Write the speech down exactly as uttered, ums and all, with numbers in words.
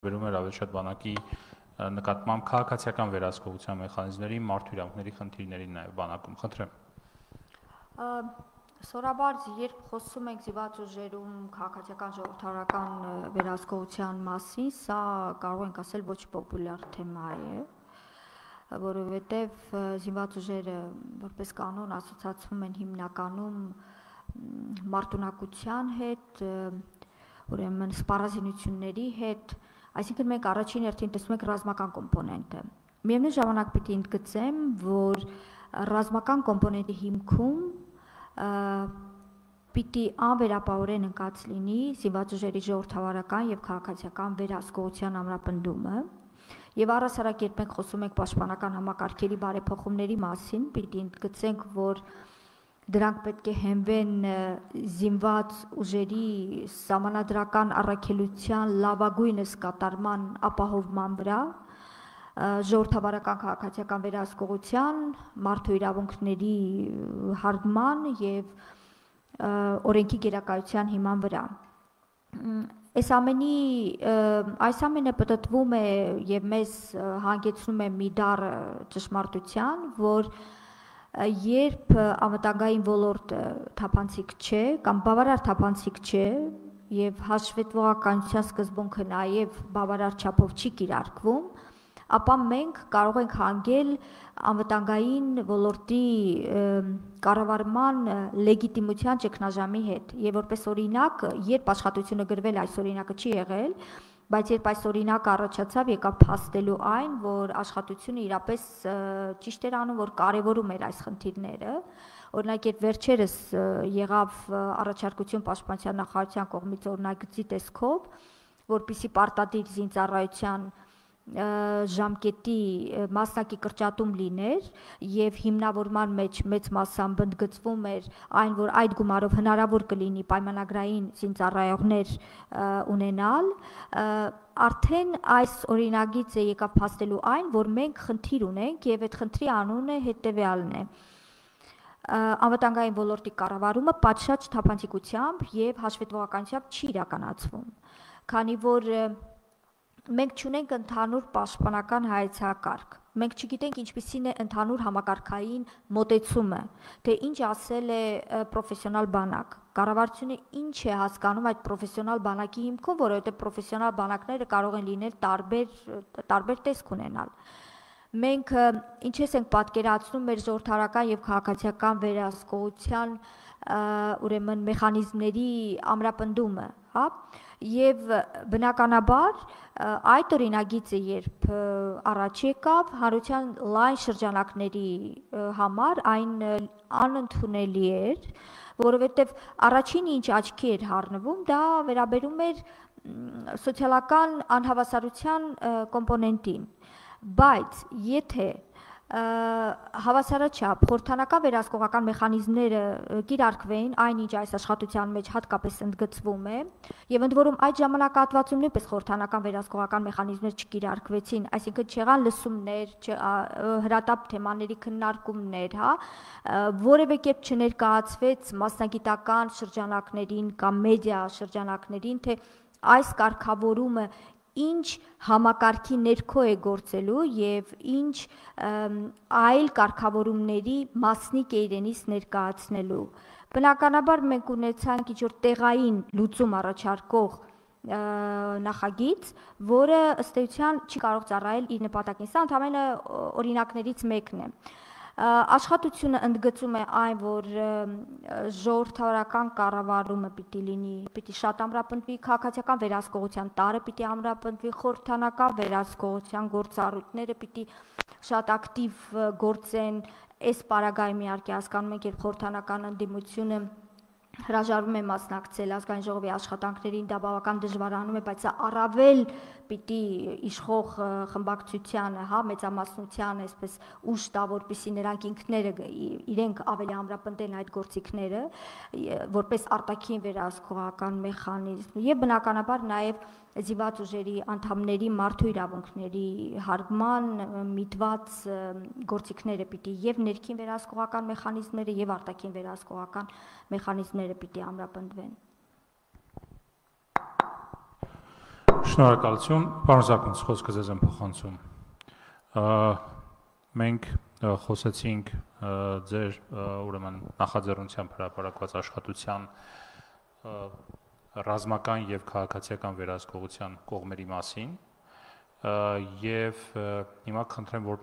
վերաբերում էր ավելի շատ բանակի նկատմամբ քաղաքացիական վերահսկողության մեխանիզմների, մարդու իրավունքների խնդիրներին նաև բանակում։ Խնդրեմ։ Սովորաբար, երբ խոսում ենք զինված ուժերում քաղաքացիական ժողովրդավարական վերահսկողության մասին, սա կարող ենք ասել ոչ պոպուլյար թեմա է, որովհետև զինված ուժերը որպես կանոն ասոցացվում են հիմնականում մարտունակության հետ, ուրեմն սպառազինությունների հետ, այսինքն մենք առաջին հերթին տեսնում ենք ռազմական կոմպոնենտը։ Միևնույն ժամանակ պիտի ընդգծեմ, որ ռազմական կոմպոնենտի հիմքում պիտի անվերապահորեն ընկած լինի զինված ուժերի ժողովրդավարական և քաղաքացիական վերահսկողության ամրապնդումը, եւ առհասարակ երբ մենք խոսում ենք պաշտպանական համակարգերի բարեփոխումների մասին, պիտի ընդգծենք, որ դրանք պետք է հենվեն զինված ուժերի սահմանադրական առաքելության լավագույնս կատարման ապահովման վրա, ժողովրդավարական քաղաքացիական վերահսկողության, մարդու իրավունքների հարգման եւ օրենքի գերակայության հիման վրա։ Այս ամենի այս ամենը պտտվում է եւ մեզ հանգեցնում է մի դառ ճշմարտության, որ երբ անվտանգային ոլորտը թափանցիկ չէ կամ բավարար թափանցիկ չէ եւ հաշվետվողականության սկզբունքը նաեւ բավարար չափով չի կիրարկվում, ապա մենք կարող ենք հանգել անվտանգային ոլորտի կառավարման լեգիտիմության ճգնաժամի հետ եւ որպես օրինակ, երբ աշխատությունը գրվել, այս օրինակը չի եղել, բայց երբ այս օրինակը առաջացավ, եկավ փաստելու այն, որ աշխատությունը իրապես ճիշտ էր անում, որ կարևորում էր այս խնդիրները, օրինակ երբ վերջերս եղավ առաջարկություն պաշտպանության նախարարության կողմից օրինագծի տեսքով, որպիսի պարտադիր զինծառայության ժամկետի մասնակի կրճատում լիներ եւ հիմնավորման մեջ մեծ մասամբ ընդգծվում էր այն, որ այդ գումարով հնարավոր կլինի պայմանագրային զինծառայողներ ունենալ, արդեն այս օրինագիծը եկավ փաստելու այն, որ մենք խնդիր ունենք եւ այդ խնդրի անունը հետեւյալն է. անվտանգային ոլորտի կառավարումը պատշաճ թափանցիկությամբ եւ հաշվետվողականությամբ չի իրականացվում, քանի որ մենք չունենք ընդհանուր պաշտպանական հայեցակարգ, մենք չգիտենք ինչպիսին է ընդհանուր համակարգային մոտեցումը, թե ինչ ասել է պրոֆեսիոնալ բանակ, կառավարությունը ինչ է հասկանում այդ պրոֆեսիոնալ բանակի հիմքում, որովհետև պրոֆեսիոնալ բանակները կարող են լինել տարբեր, տարբեր տեսք ունենալ։ Մենք ինչպես ենք պատկերացնում մեր ժողովրդավարական եւ քաղաքացիական վերահսկողության ուրեմն մեխանիզմների ամրապնդումը, հա, եւ բնականաբար այդ օրինագիծը երբ առաջ եկավ, հանրության լայն շրջանակների համար այն անընդունելի էր, որովհետեւ առաջինը ինչ աչքի էր հառնվում, դա վերաբերում էր սոցիալական անհավասարության կոմպոնենտին, բայց եթե հավասարաչափ խորհրդանական վերահսկողական մեխանիզմները կիրարկվեին, այնինչ այս աշխատության մեջ հատկապես ընդգծվում է, եւ ընդ որում այդ ժամանակահատվածում նույնպես խորհրդանական վերահսկողական մեխանիզմներ չկիրարկվեցին, այսինքն չեղան լսումներ, հրատապ թեմաների քննարկումներ, հա, որևէ կերպ չներկայացվեց մասնագիտական շրջանակներին կամ մեդիա շրջանակներին, թե այս կարգավորումը ինչ համակարգի ներքո է գործելու եւ ինչ այլ կարգավորումների մասնիկ է իրենից ներկայացնելու։ Բնականաբար մենք ունեցանք ինչ-որ տեղային լուծում առաջարկող նախագիծ, որը ըստ էության չի կարող ծառայել իր նպատակին, սա ընդհանրապես օրինակներից մեկն է։ Աշխատությունը ընդգծում է այն, որ ժողովրդավարական կառավարումը պիտի լինի, պիտի շատ ամրապնդվի քաղաքացիական վերահսկողության տարը պիտի ամրապնդվի, խորհրդանական վերահսկողության գործառույթները պիտի շատ ակտիվ գործեն, այս պարագայում իհարկե հասկանում ենք, երբ խորհրդանական ընդդիմությունը հրաժարվում է մասնակցել ազգային ժողովի աշխատանքներին, դա բավական դժվարանում է, բայց սա առավել պիտի իշխող խմբակցությանը, հա, մեծամասնությանը այսպես ուժ տա, որպեսզի նրանք ինքները իրենք ավելի ամրապնդեն այդ գործիքները, որպես արտաքին վերահսկողական մեխանիզմ եւ բնականաբար նաեւ զինված ուժերի անդամների մարդու իրավունքների հարգման միտված գործիքները պիտի եւ ներքին վերահսկողական մեխանիզմները եւ արտաքին վերահսկողական մեխանիզմները պիտի ամրապնդվեն։ Շնորհակալություն, պարոն Զաքունց, խոսքը ձեզ եմ փոխանցում։ Մենք խոսեցինք ձեր ուրեմն նախաձեռնությամբ հրապարակված աշխատության ռազմական եւ քաղաքացիական վերահսկողության կողմերի մասին եւ հիմա խնդրեմ, որ